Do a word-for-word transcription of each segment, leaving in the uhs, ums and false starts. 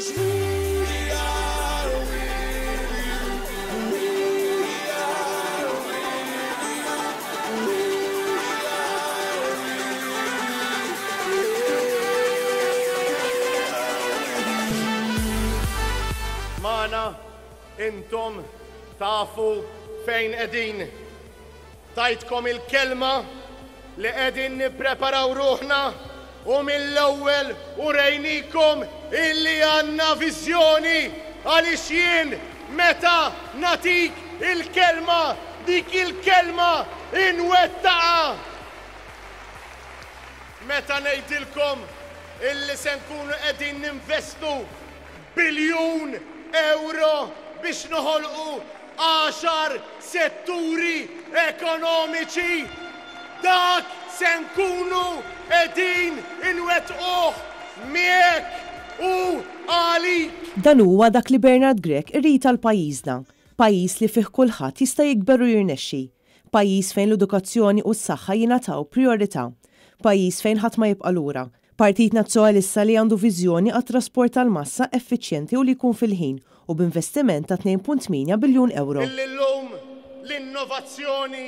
'Cause we are with you. We are with you. We are with you. Magħna intom tafu fejn qegħdin. Tajtkom il-kelma li qegħdin nippreparaw ruħna u mill-ewwel urejnikom illi għandna viżjoni, għaliex jien meta nagħtik il-kelma, dik il-kelma inwettaqha. Meta ngħidilkom illi se nkunu qegħdin ninvestu biljun euro biex noħolqu għaxar setturi ekonomiċi, dak se nkunu qegħdin inwettquh miegħek u għalik. Dan huwa dak li Bernard Grech irid għal pajjiżna, pajjiż li fih kulħadd jista' jikber u jirnexxi, pajjiż fejn l-edukazzjoni u s-saħħa jingħataw priorità, pajjiż fejn ħadd ma jibqa' lura. Partit Nazzjonalista li għandu viżjoni għat-trasport tal-massa effiċjenti u li jkun fil-ħin u b'investiment ta' tnejn punt tmienja biljun euro. Illi llum l-innovazzjoni,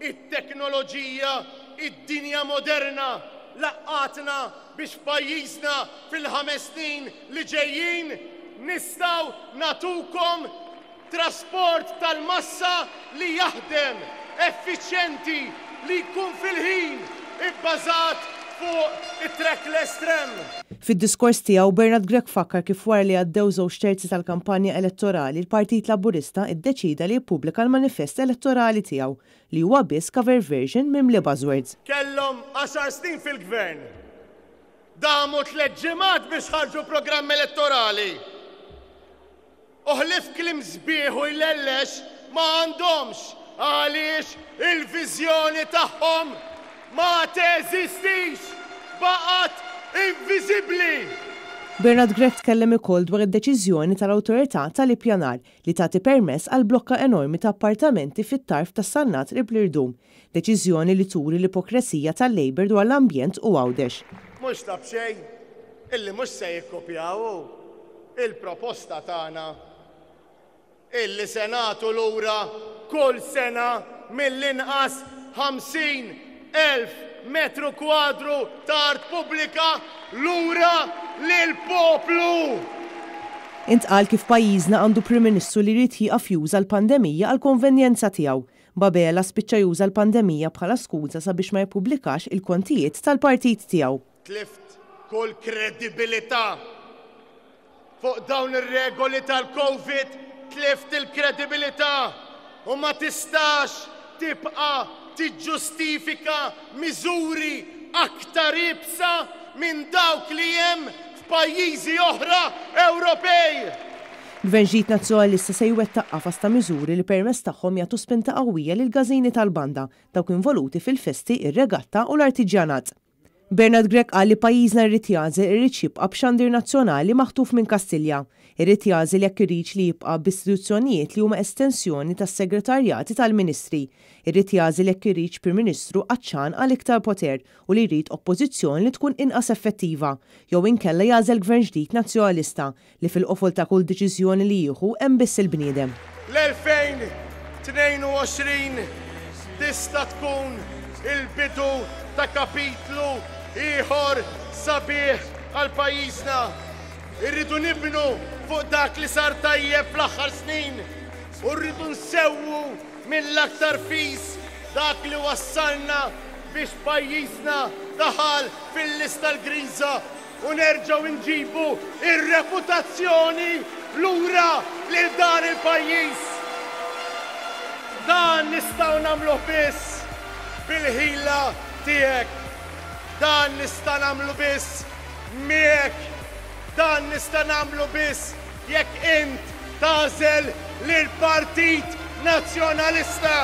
it-teknoloġija, id-dinja moderna laqqatna biex pajjiżna fil-ħames snin li ġejjin nistgħu natukom trasport tal-massa li jaħdem, effiċjenti, li jkun fil-ħin, ibbażat fuq it-trackless tram. Fid-diskors tiegħu Bernard Grech fakkar kif wara li għaddew żewġ terzi tal-kampanja elettorali, il-Partit Laburista iddeċida li jippubblika l-manifest elettorali tiegħu li huwa biss cover version mimli buzzwords. Kellhom għaxar snin fil-gvern. Damu tliet ġimgħat biex ħarġu programm elettorali. U ħlief kliem sbieħ u jlellex ma għandhomx, għaliex il-viżjoni tagħhom ma teżistix, baqgħet inviżibbli. Bernard Grech tkellem ukoll dwar id-deċiżjoni tal-Awtorità tal-Ippjanar li tagħti permess għal blokka enormi ta' appartamenti fit-tarf tas-Sannat qrib l-Irdum, deċiżjoni li turi l-ipokresija tal-Labour dwar l-ambjent u Għawdex. Mhux ta' b'xejn illi mhux se jikkopjaw il-proposta tagħna illi se nagħtu lura kull sena mill-inqas ħamsin elf metru kwadru ta' art pubblika lura lill-poplu. Intqal kif pajjiżna għandu Prim Ministru li jrid jieqaf juża l-pandemija għal konvenjenza tiegħu. B'Abela spiċċa juża l-pandemija bħala skuża sabiex ma jippubblikax il-kontijiet tal-partit tiegħu. Tlift kull kredibilità fuq dawn ir-regoli tal-Covid, tlift il-kredibilità u ma tistax tibqa' tiġġustifika miżuri aktar iebsa minn dawk li hemm f'pajjiżi oħra Ewropej. Gvern ġdid Nazzjonalista se jwettaq qafas ta' miżuri li permezz tagħhom jagħtu spinta qawwija lil każini tal-banda, dawk involuti fil-festi, ir-regatta u l-artiġjanat. Bernard Grech qal li pajjiżna jrid jagħżel irid jibqa' b'xandir nazzjonali maħtuf minn Kastilja, irid jagħżel jekk iridx li jibqa' b'istituzzjonijiet li huma estensjoni tas-segretarjati tal-Ministri, irid jagħżel jekk iridx Prim Ministru għatxan għal iktar poter u li jrid oppożizzjoni li tkun inqas effettiva, jew inkella jagħżel gvern ġdid nazzjonalista li fil-qofol ta' kull deċiżjoni li jieħu hemm biss il-bniedem. L-elfejn tnejn u għoxrin tista' tkun il-bidu ta' kapitlu ieħor sabiħ għal pajjiżna. Irridu nibnu fuq dak li sar tajjeb fl-aħħar snin u rridu nsewwu mill-aktar fis dak li wassalna biex pajjiżna daħal fil-lista l-griża u nerġgħu nġibu ir-reputazzjoni lura lil dan il-pajjiż. Dan nistgħu nagħmluh biss bil-ħila tiegħek. Dan nista' nagħmlu biss miegħek. Dan nista' nagħmlu biss jekk int tagħżel lill-Partit Nazzjonalista.